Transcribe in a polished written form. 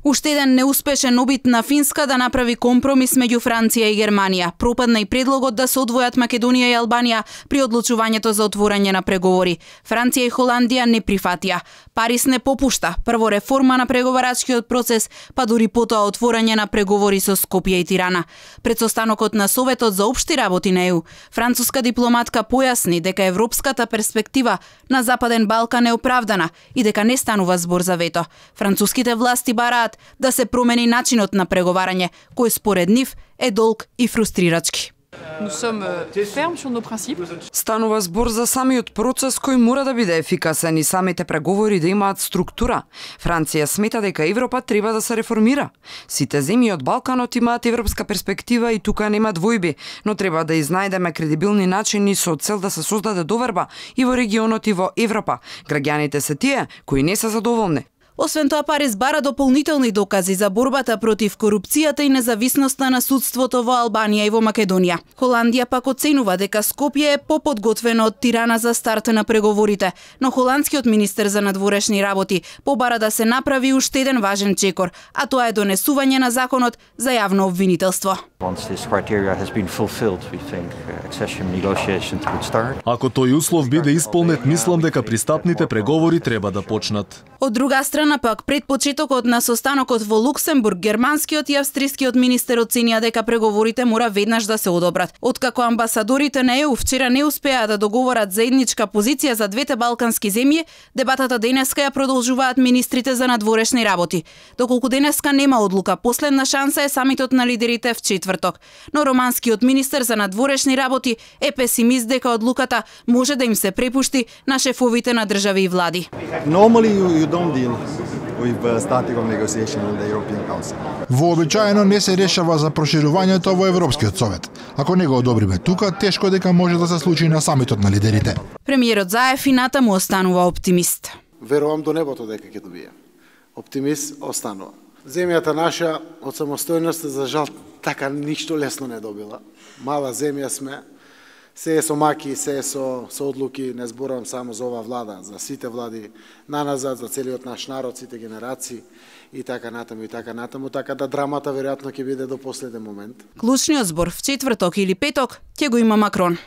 Уште еден неуспешен обид на Финска да направи компромис меѓу Франција и Германија. Пропадна и предлогот да се одвојат Македонија и Албанија при одлучувањето за отворање на преговори. Франција и Холандија не прифатија. Парис не попушта. Прво реформа на преговарачкиот процес, па дури потоа отворање на преговори со Скопје и Тирана. Пред состанокот на Советот за општи работи на ЕУ, француска дипломатка појасни дека европската перспектива на Западен Балкан е оправдана и дека не станува збор за вето. Француските власти бараат да се промени начинот на преговарање, кој според нив е долг и фрустрирачки. Станува збор за самиот процес кој мора да биде ефикасен и самите преговори да имаат структура. Франција смета дека Европа треба да се реформира. Сите земји од Балканот имаат европска перспектива и тука нема двојби, но треба да изнајдеме кредибилни начини со цел да се создаде доверба и во регионот и во Европа. Граѓаните се тие кои не се задоволни. Освен тоа, Парис бара дополнителни докази за борбата против корупцијата и независноста на судството во Албанија и во Македонија. Холандија пак оценува дека Скопје е поподготвено од Тирана за старт на преговорите, но холандскиот министер за надворешни работи побара да се направи уште еден важен чекор, а тоа е донесување на законот за јавно обвинителство. Ако тој услов биде исполнет, мислам дека пристапните преговори треба да почнат. Од друга страна пак, пред почетокот на состанокот во Луксембург, германскиот и австрискиот министер оценија дека преговорите мора веднаш да се одобрат. Откако амбасадорите на ЕУ вчера не успеа да договорат заедничка позиција за двете балкански земји, дебатата денеска ја продолжуваат министрите за надворешни работи. Доколку денеска нема одлука, последна шанса е самитот на лидерите в четврток. Но романскиот министер за надворешни работи е песимист дека одлуката може да им се препушти на шефовите на држави и влади. Вообичаено не се решава за проширувањето во Европскиот совет. Ако не го одобриме тука, тешко дека може да се случи на самитот на лидерите. Премиерот Заев и натаму останува оптимист. Верувам до небото дека ќе добие. Оптимист останува. Земјата наша од самостојност за жал така ништо лесно не добила. Мала земја сме. Се е со маки, се е со одлуки, не зборувам само за ова влада, за сите влади наназад, за целиот наш народ, сите генерации и така натаму, така да драмата веројатно ќе биде до последен момент. Клучниот збор в четврток или петок ќе го има Макрон.